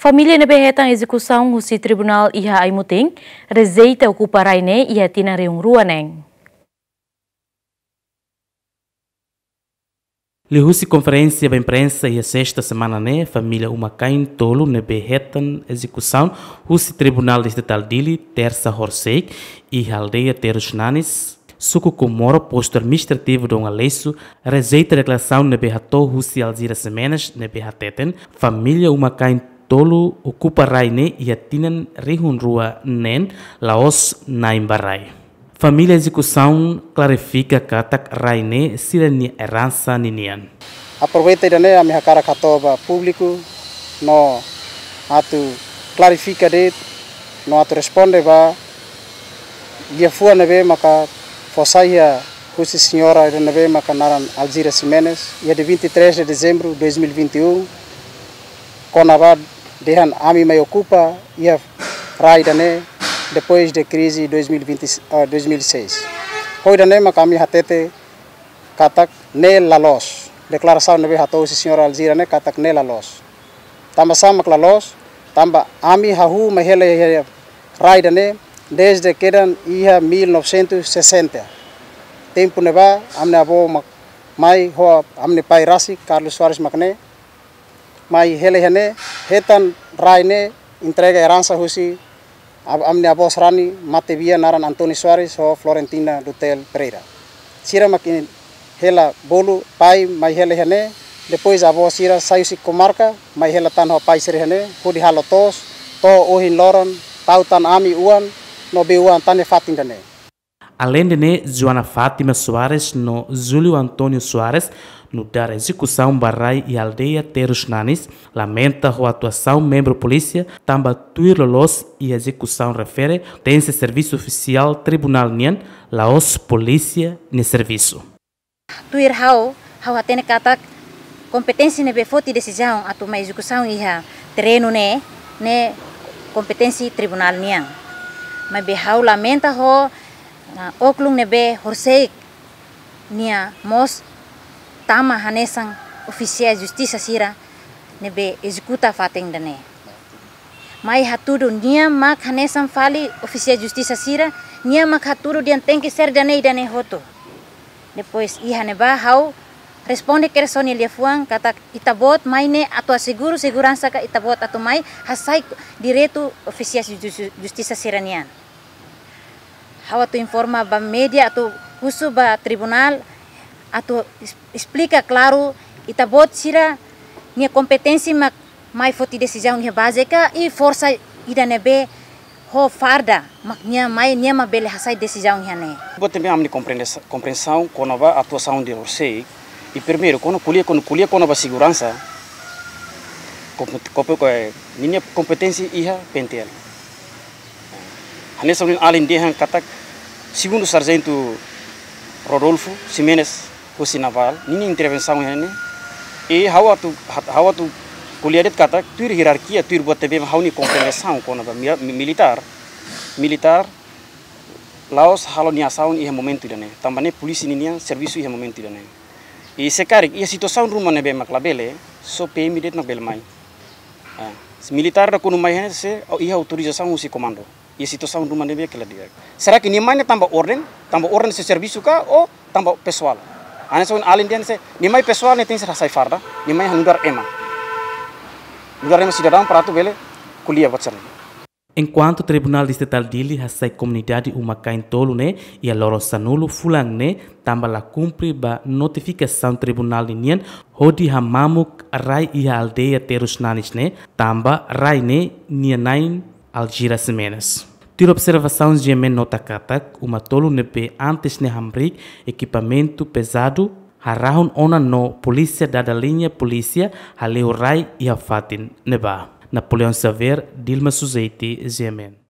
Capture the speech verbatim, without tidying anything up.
Família ne'ebé hetan ezekusaun husi tribunál iha Aimutin rejeita okupa rai ne'e iha tinan rihun rua neen. Liuhusi konferénsia ba imprensa iha sesta semana ne'e, família uma-kain tolu ne'ebé hetan ezekusaun husi Tribunál Distritál Dili, Tersa Horisehik, iha aldeia Terus Nanis, suku Comoro, postu administrativu Dom Aleixo, rejeita deklarasaun ne'ebé hato'o husi Alzira Ximenes ne'ebé hateten família uma-kain tolu okupa rai ne'e iha tinan rihun rua neen la'ós na'in ba rai. Família ezekusaun klarifika katak rai ne'e sira-nia eransa ninian. Aproveita ida-ne'e ami hakarak hato'o ba públiku no atu klarifika de'it no atu responde ba liafuan ne'ebé maka fó sai iha husi señora ida ne'ebé maka naran Alzira Ximenes, iha dia vinte e três de dezembro de dois mil e vinte e um, kona-ba dehan ami mai okupa iha rai ida-ne'e depois de krize dois mil e vinte, ah, dois mil e seis. Ho ida-ne'e maka ami hatete katak ne'e la loos. Deklarasaun ne'ebé hato'o husi señora Alzira ne'e katak ne'e la loos. Tanba sá mak la loos? Tanba ami hahú mai hela iha rai ida-ne'e desde kedan iha mil novecentos e sessenta. Tempu ne'ebá ami-nia avó mak mai ho ami-nia pai rasik, Carlos Soares mak ne'e, mai hela iha ne'e, hetan rai ne'e, entrega eransa husi ab-, ami-nia avó sarani matebian naran António Soares ho Florentina Dutel Pereira. Sira mak hela bolu pai mai hela iha ne'e, depois avó sira sai husi komarka mai hela tan ho pai sira iha ne'e, hodi halo to'os, to'o ohin loron, tau tan ami-oan no bei-oan tan iha fatin ida-ne'e. Aleinde ne'e, Joana Fátima Soares no Júlio António Soares, nu'udar ezekusaun ba rai iha aldeia Terus Nanis, lamenta ho atuasaun membru polísia, tanba tuir loloos iha ezekusaun refere pertense servisu ofisiál tribunál nian, la'ós polísia nia servisu. Tuir ha'u, ha'u hatene katak kompeténsia ne'ebé foti desizaun atu mai ezekusaun iha terrenu ne'e, ne'e kompeténsia tribunál nian. Maibé ha'u lamenta ho, ah, oklum ne'ebé Horisehik nia mós tama hanesan ofisiál justisa sira ne'ebé ezekuta fatin ida-ne'e. Mai hatudu nia mak hanesan fali ofisiál justisa sira, nia mak hatudu dehan tenke ser ida-ne'e, ida-ne'e hotu. Depois iha ne'ebá ha'u responde kedas ho nia liafuan katak ita-boot mai ne'e atu aseguru seguransa ka ita-boot atu mai hasai direitu ofisiál jus-, justisa sira-nian. Ha'u atu informa ba média atu husu ba tribunál atu es-, esplika klaru ita-boot sira-nia kompeténsia mak mai foti desizaun iha baze ka i forsa ida ne'ebé ho farda mak nia mai, nia mak bele hasai desizaun iha ne'e. Buat ne'ebé ami-nia komprende-, komprensaun kona-ba atuasaun de Horisehik, i primeiru, kona ko'alia, kona ko'alia kona-ba seguransa, kompe-, kompe-, eh, ninia kompeténsia iha P N T L. Hanesan ohin alin dehan katak, segundu Sarjentu Rodolfo Ximenes, husi Navál, ninia intervensaun iha ne'e. I ha'u atu, hat-, ha'u atu ko'alia de'it katak, tuir ierarkia, tuir buat ne'ebé ha'u-nia komprensaun kona-ba mi-, mi-, militár, militár, la'ós halo nia asaun iha momentu ida-ne'e. Tanba ne'e polísia ninian servisu iha momentu ida-ne'e. I se karik, iha situasaun ruma ne'ebé mak labele, só P M de'it mak bele mai. Ah, se militár ida kuandu mai iha ne'e sei, o iha autorizasaun husi komandu. Iha situasaun ruma ne'ebé ke la di'ak. Será que nia mai ne'e tanba orden, tanba orden sei servisu ka, ou tanba pesoál? Hanesan ohin alin dehan se, nia mai pesoál ne'e tenke ser hasai farda, nia mai nu'udar ema. Nu'udar ema sidadaun para atu bele ko'alia buat sira-ne'e. Enkuantu Tribunál Distritál Dili hasai komunidade uma-kain tolu ne'e iha loron sanulu fulan ne'e tanba la kumpre ba notifikasaun tribunál ninian hodi hamamuk rai iha aldeia Terus Nanis ne'e, tanba rai ne'e nia na'in Alzira Ximenes. Tuir observasaun G M N nota katak, uma tolu ne'ebé antes ne'e hamriik ekipamentu pezadu, harahun ona no polísia dada liña polísia hale'u rai iha fatin ne'ebá. Napoleão Xavier, Dilma Suzeti, G M N.